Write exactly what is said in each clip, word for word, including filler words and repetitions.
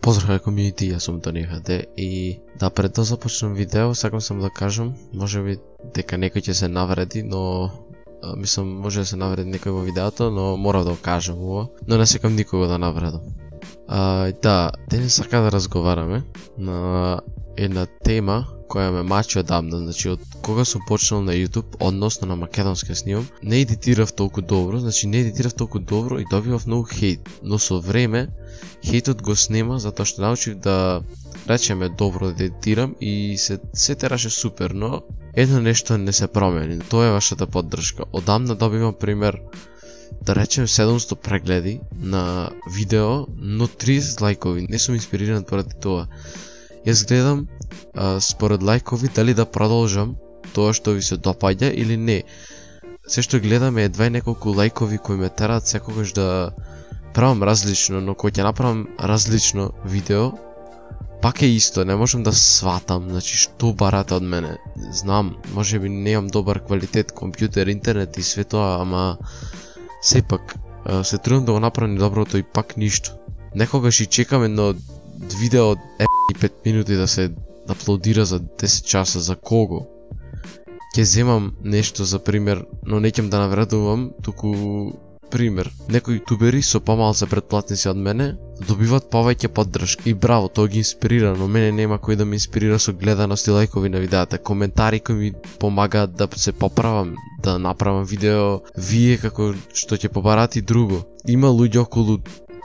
Поздрав комјунити, јас сум Тони ха де и да пред да започнам видео, сакам сам да кажам, можеби дека некој ќе се навреди, но а, мислам може да се навреди некој во видеото, но мора да го кажам ова, но не сакам никого да навредам. А, да, денес сака да разговараме на една тема која ме мачи одамна, значи од кога сум почнал на YouTube, односно на македонски снимам, не едитирав толку добро, значи не едитирав толку добро и добивав многу хейт, но со време хейтот го снема затоа што научив да речеме добро да едитирам и се се тераше супер, но едно нешто не се промени, тоа е вашата поддршка. Одамна добивам пример да речем седумсто прегледи на видео, но триесет лајкови, не сум инспириран поради тоа. Јас гледам а, според лајкови дали да продолжам тоа што ви се допаѓа или не. Се што гледам е едва неколку лајкови кои ме тераат секогаш да правам различно, но кога ќе направам различно видео, пак е исто, не можам да сватам, значи што барате од мене. Знам, можеби немам добар квалитет, компјутер, интернет и све тоа, ама сепак се трудам да го направам доброто и пак ништо. Некогаш и чекам едно видео од пет минути да се аплодира за десет часа, за кого? Ќе земам нешто за пример, но не ќе да навредувам, туку пример. Некои ютубери со помал се претплатници од мене добиваат повеќе поддршка и браво, тоа ги инспирира, но мене нема кој да ме инспирира со гледаност и лајкови на видеата, коментари кои ми помагаат да се поправам, да направам видео, вие како што ќе побарате и друго. Има луѓе околу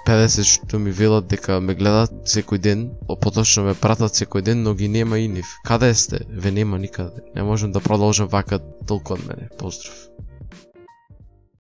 педесет што ми велат дека ме гледаат секој ден, поточно ме пратат секој ден, но ги нема и нив. Каде сте? Ве нема никаде. Не можам да продолжам вака толку од мене. Поздрав.